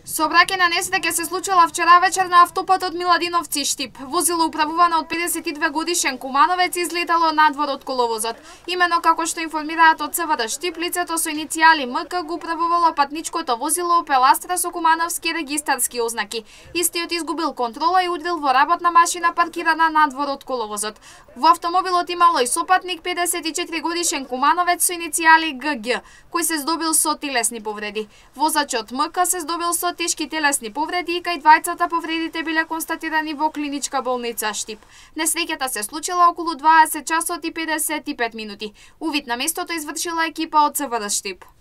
Сообраќајна несреќа се случила вчера вечер на автопатот Миладиновци Штип. Возило управувано од 52 годишен кумановец излетало надвор од коловозот. Имено како што информираат од ЦВР Штип, лицето со иницијали МК го управувало патничкото возило Opel Astra со кумановски регистарски ознаки. Истиот изгубил контрола и удрил во работна машина паркирана надвор од коловозот. Во автомобилот имало и сопатник 54 годишен кумановец со иницијали ГГ, кој се здобил со телесни повреди. Возачот МК се здобил со тешки телесни повреди и кај двајцата повредите биле констатирани во клиничка болница Штип. Несреќата се случила околу 20 часот и 55 минути. Увид на местото извршила екипа од ЦВР Штип.